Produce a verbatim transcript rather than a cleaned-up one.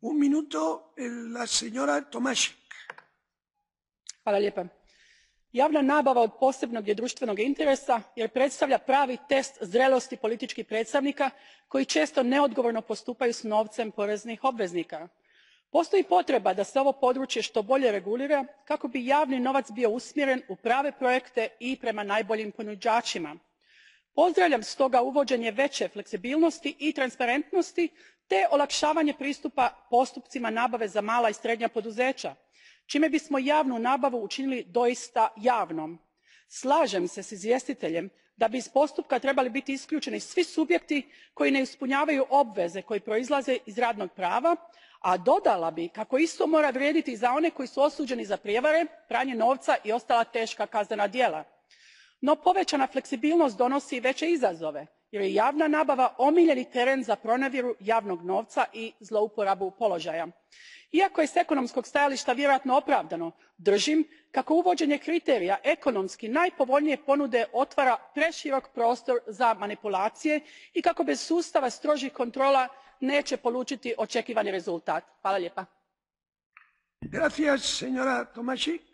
Un minuto, la señora Tomašić. Hvala lijepa. Javna nabava od posebnog je društvenog interesa jer predstavlja pravi test zrelosti političkih predstavnika koji često neodgovorno postupaju s novcem poreznih obveznika. Postoji potreba da se ovo područje što bolje regulira kako bi javni novac bio usmjeren u prave projekte i prema najboljim ponuđačima. Pozdravljam stoga uvođenje veće fleksibilnosti i transparentnosti te olakšavanje pristupa postupcima nabave za mala i srednja poduzeća, čime bismo javnu nabavu učinili doista javnom. Slažem se s izvjestiteljem da bi iz postupka trebali biti isključeni svi subjekti koji ne ispunjavaju obveze koje proizlaze iz radnog prava, a dodala bih kako isto mora vrijediti i za one koji su osuđeni za prijevare, pranje novca i ostala teška kaznena djela. No povećana fleksibilnost donosi i veće izazove jer je javna nabava omiljeni teren za pronevjeru javnog novca i zlouporabu položaja. Iako je s ekonomskog stajališta vjerojatno opravdano, držim kako uvođenje kriterija ekonomski najpovoljnije ponude otvara preširok prostor za manipulacije i kako bez sustava strožih kontrola neće polučiti očekivani rezultat. Hvala lijepa. Gracias, señora Tomašić.